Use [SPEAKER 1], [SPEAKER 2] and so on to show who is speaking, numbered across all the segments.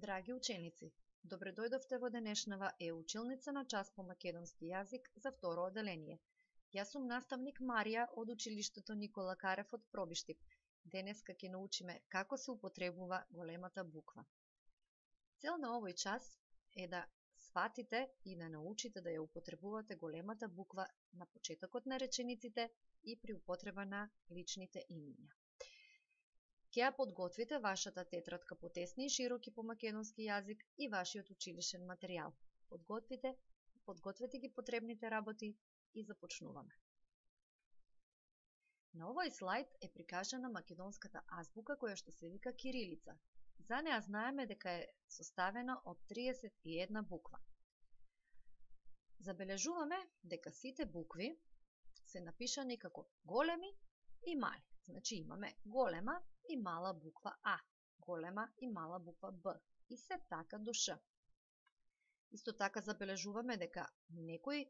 [SPEAKER 1] Драги ученици, добре дојдовте во денешнава училница на час по македонски јазик за второ оделение. Јас сум наставник Марија од училиштето Никола Карев од Пробиштип. Денеска ќе научиме како се употребува големата буква. Цел на овој час е да сватите и да научите да ја употребувате големата буква на почетокот на речениците и при употреба на личните имиња. Ќе ја подготвите вашата тетрадка по тесни и широки по македонски јазик и вашиот училишен материјал. Подгответе ги потребните работи и започнуваме. На овој слайд е прикажана македонската азбука која што се вика кирилица. За неа знаеме дека е составена од 31 буква. Забележуваме дека сите букви се напишани како големи и мали. Значи имаме голема и мала буква А, голема и мала буква Б и се така до Ш. Исто така забележуваме дека некои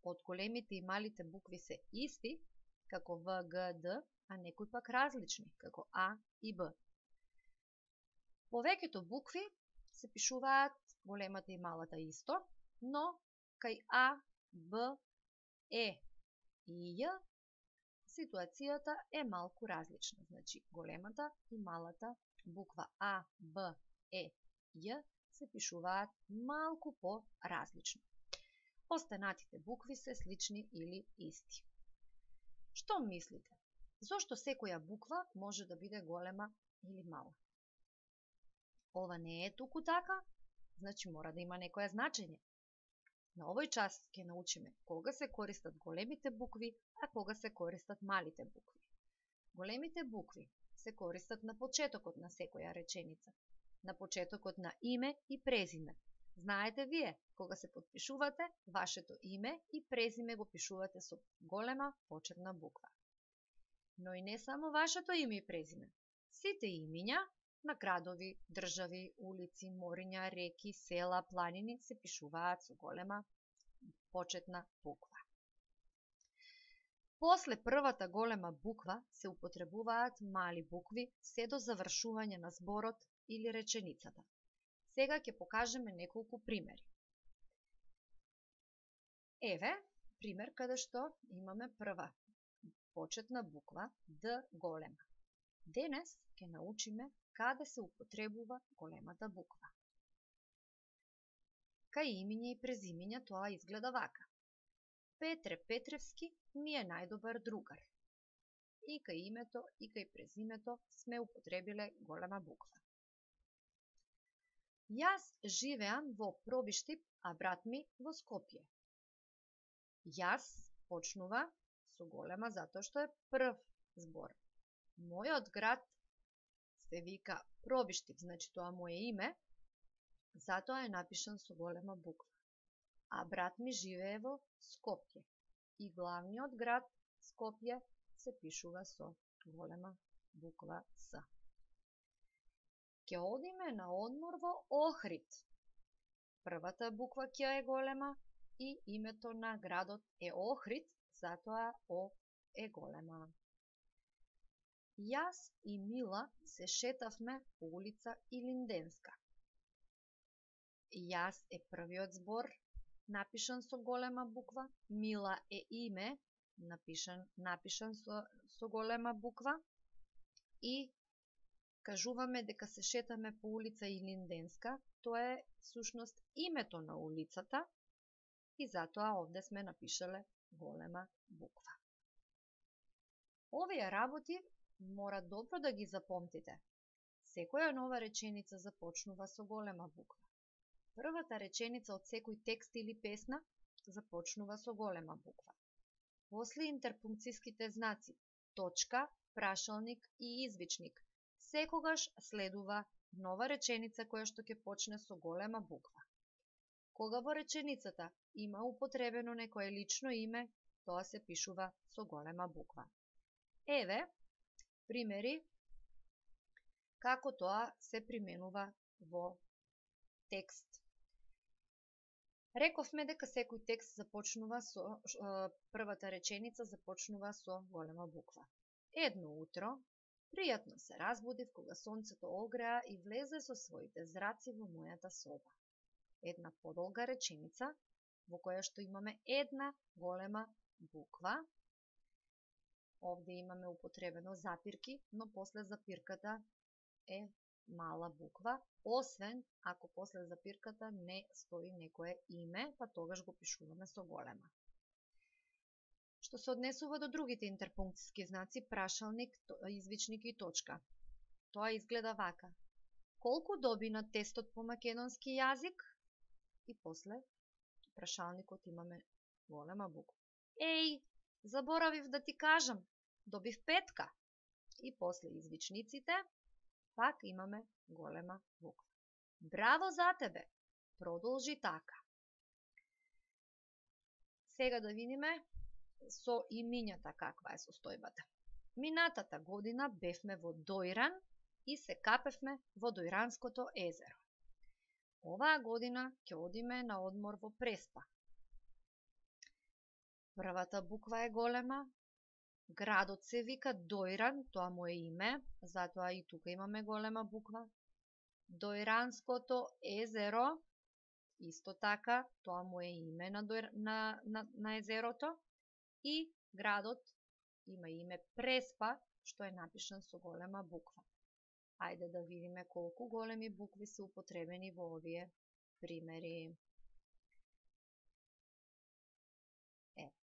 [SPEAKER 1] од големите и малите букви се исти, како В, Г, Д, а некои пак различни, како А и Б. Повеќето букви се пишуваат големата и малата исто, но кај А, Б, Е и Ј ситуацијата е малку различна. Значи, големата и малата буква А, Б, Е, Ј се пишуваат малку по-различно. Останатите букви се слични или исти. Што мислите? Зошто секоја буква може да биде голема или мала? Ова не е туку така, значи мора да има некоја значење. На овој час ќе научиме кога се користат големите букви, а кога се користат малите букви. Големите букви се користат на почетокот на секоја реченица, на почетокот на име и презиме. Знаете вие, кога се подпишувате, вашето име и презиме го пишувате со голема почетна буква. Но и не само вашето име и презиме. Сите имиња на градови, држави, улици, мориња, реки, села, планини се пишуваат со голема почетна буква. После првата голема буква се употребуваат мали букви се до завршување на зборот или реченицата. Сега ќе покажеме неколку примери. Еве, пример каде што имаме прва почетна буква Д голема. Денес ќе научиме каде се употребува големата буква. Кај имиња и презимиња тоа изгледа вака. Петре Петревски ми е најдобар другар. И кај името и кај презимето сме употребиле голема буква. Јас живеам во Пробиштип, а брат ми во Скопје. Јас почнува со голема затоа што е прв збор. Мојот град се вика Пробиштип, значи тоа моје име, затоа е напишан со голема буква. А брат ми живее во Скопје и главниот град Скопје се пишува со голема буква С. Ќе одиме на одмор во Охрид. Првата буква Ќ е голема и името на градот е Охрид, затоа О е голема. Јас и Мила се шетавме по улица Илинденска. Јас е првиот збор, напишан со голема буква, Мила е име, напишан со голема буква и кажуваме дека се шетаме по улица Илинденска, тоа е всушност името на улицата и затоа овде сме напишале голема буква. Овие работи мора добро да ги запомтите. Секоја нова реченица започнува со голема буква. Првата реченица од секој текст или песна започнува со голема буква. После интерпункцијските знаци, точка, прашалник и извичник, секогаш следува нова реченица која што ќе почне со голема буква. Кога во реченицата има употребено некое лично име, тоа се пишува со голема буква. Еве примери како тоа се применува во текст. Рековме дека секој текст започнува со првата реченица започнува со голема буква. Едно утро Пријатно се разбудив кога сонцето огреа и влезе со своите зраци во мојата соба. Една подолга реченица во која што имаме една голема буква. Овде имаме употребено запирки, но после запирката е мала буква, освен ако после запирката не стои некое име, па тогаш го пишуваме со голема. Што се однесува до другите интерпункциски знаци, прашалник, извичник и точка. Тоа изгледа вака. Колку доби на тестот по македонски јазик? И после прашалникот имаме голема буква. Еј, заборавив да ти кажам, добив 5. И после извичниците пак имаме голема буква. Браво за тебе! Продолжи така. Сега да видиме со имињата каква е состојбата. Минатата година бевме во Дојран и се капевме во Дојранското езеро. Оваа година ќе одиме на одмор во Преспа. Првата буква е голема. Градот се вика Дојран, тоа му е име, затоа и тука имаме голема буква. Дојранското езеро, исто така, тоа му е име на езерото. И градот има име Преспа, што е напишан со голема буква. Ајде да видиме колку големи букви се употребени во овие примери.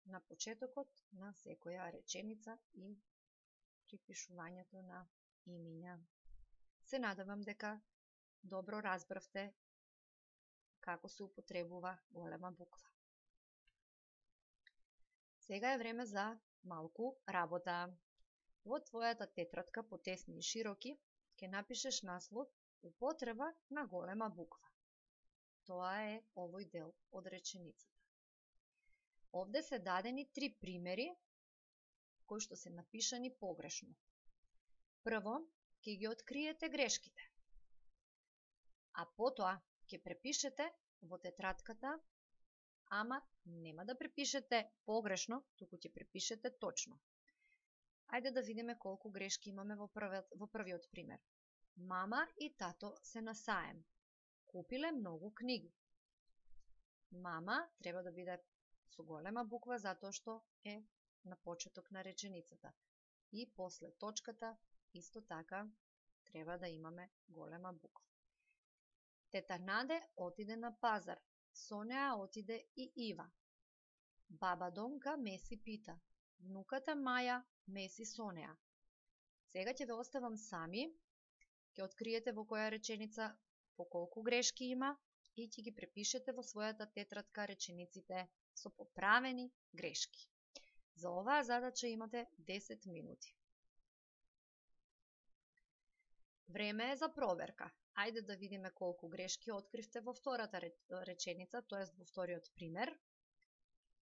[SPEAKER 1] На почетокот на секоја реченица и припишувањето на имиња. Се надевам дека добро разбравте како се употребува голема буква. Сега е време за малку работа. Во твојата тетрадка по тесни и широки ќе напишеш наслов употреба на голема буква. Тоа е овој дел од реченицата. Овде се дадени 3 примери кои што се напишани погрешно. Прво, ќе ги откриете грешките. А потоа ќе препишете во тетрадката, ама нема да препишете погрешно, туку ќе препишете точно. Ајде да видиме колку грешки имаме во првиот пример. Мама и тато се на саем. Купиле многу книги. Мама треба да биде со голема буква затоа што е на почеток на реченицата. И после точката исто така треба да имаме голема буква. Тета Наде отиде на пазар. Со неа отиде и Ива. Баба Донка меси пита. Внуката Маја меси со неа. Сега ќе ве оставам сами, ќе откриете во која реченица по колку грешки има и ќе ги препишете во својата тетрадка речениците со поправени грешки. За оваа задача имате 10 минути. Време е за проверка. Ајде да видиме колку грешки откривте во втората реченица, тоест во вториот пример.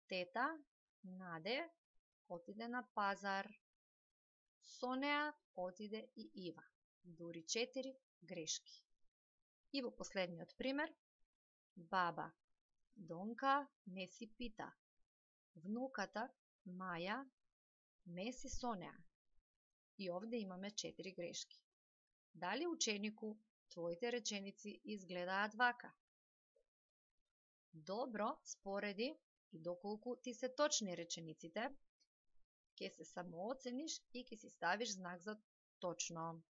[SPEAKER 1] Тета Наде отиде на пазар. Со неа отиде и Ива. Дури 4 грешки. И во последниот пример. Баба Донка меси пита. Внуката Маја меси со неа. И овде имаме 4 грешки. Дали ученику твоите реченици изгледаат вака? Добро, спореди и доколку ти се точни речениците, ќе се самооцениш и ќе си ставиш знак за точно.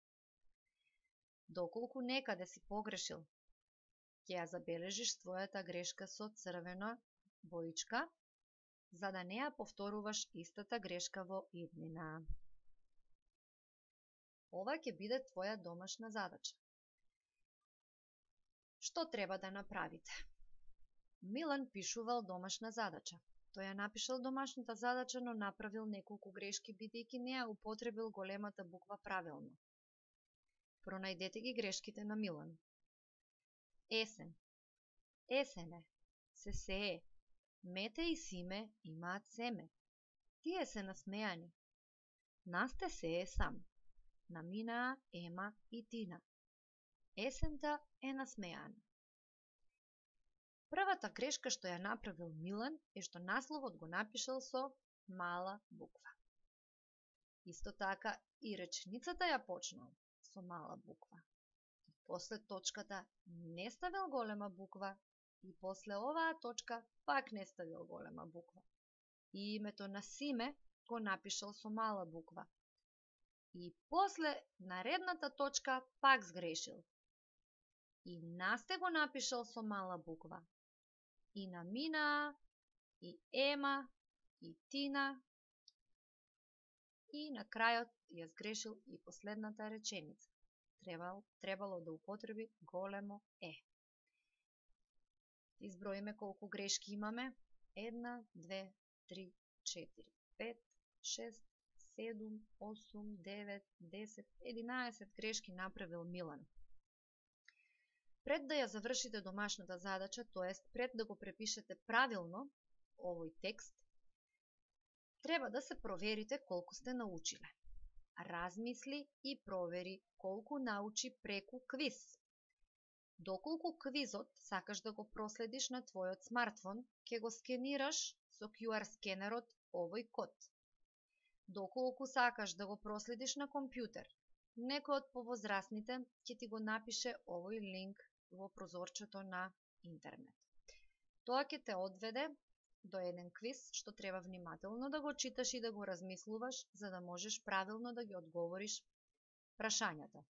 [SPEAKER 1] Доколку некаде си погрешил, ќе ја забележиш својата грешка со црвена боичка, за да не ја повторуваш истата грешка во иднина. Ова ќе биде твоја домашна задача. Што треба да направите? Милан пишувал домашна задача. Тој ја напишал домашната задача, но направил неколку грешки, бидејќи не ја употребил големата буква правилно. Пронајдете ги грешките на Милан. Есен. Есене. Се сее. Мете и Симе имаат семе. Тие се насмејани. Насте сее сам. Наминаа Ема и Тина. Есента е насмејана. Првата грешка што ја направил Милан е што насловот го напишал со мала буква. Исто така и реченицата ја почнал со мала буква. И после точката не ставил голема буква и после оваа точка пак не ставил голема буква. И името на Симе го напишал со мала буква. И после наредната точка пак сгрешил. И Насте го напишал со мала буква. И на Мина, и Ема, и Тина. И на крајот ја сгрешил и последната реченица. Требало да употреби големо Е. Изброиме колку грешки имаме. 1, 2, 3, 4, 5, 6, 7, 8, 9, 10, 11 грешки направил Милан. Пред да ја завршите домашната задача, тоест пред да го препишете правилно овој текст, треба да се проверите колку сте научиле. Размисли и провери колку научи преку квиз. Доколку квизот сакаш да го проследиш на твојот смартфон, ќе го скенираш со QR скенерот овој код. Доколку сакаш да го проследиш на компјутер, некој од повозрасните ќе ти го напише овој линк во прозорчето на интернет. Тоа ќе те одведе до еден квиз што треба внимателно да го читаш и да го размислуваш, за да можеш правилно да ги одговориш прашањата.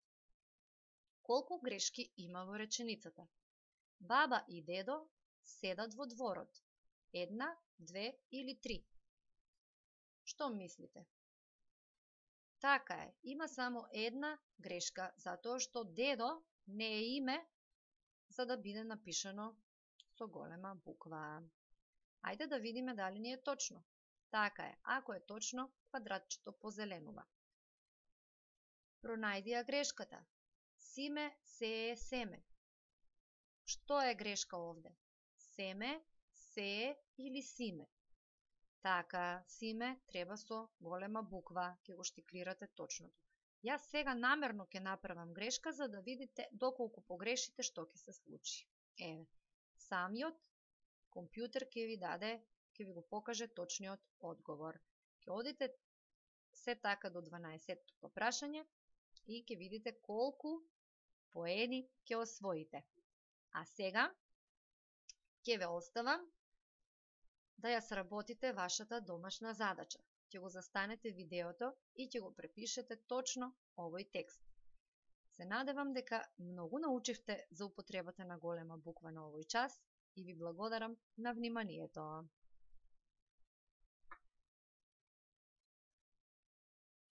[SPEAKER 1] Колку грешки има во реченицата? Баба и дедо седат во дворот. 1, 2 или 3? Што мислите? Така е, има само една грешка, затоа што дедо не е име за да биде напишано со голема буква. Ајде да видиме дали ни е точно. Така е, ако е точно, квадратчето позеленува. Пронајди ја грешката. Симе сее семе. Што е грешка овде? Семе, сее или симе? Така, Симе треба со голема буква, ќе го штиклирате точното. Јас сега намерно ќе направам грешка за да видите доколку погрешите што ќе се случи. Еве, самиот компјутер ќе ви го покаже точниот одговор. Ќе одите се така до 12-тото прашање и ќе видите колку поени ќе освоите. А сега ќе ве оставам да ја сработите вашата домашна задача. Ќе го застанете видеото и ќе го препишете точно овој текст. Се надевам дека многу научивте за употребата на голема буква на овој час и ви благодарам на вниманието.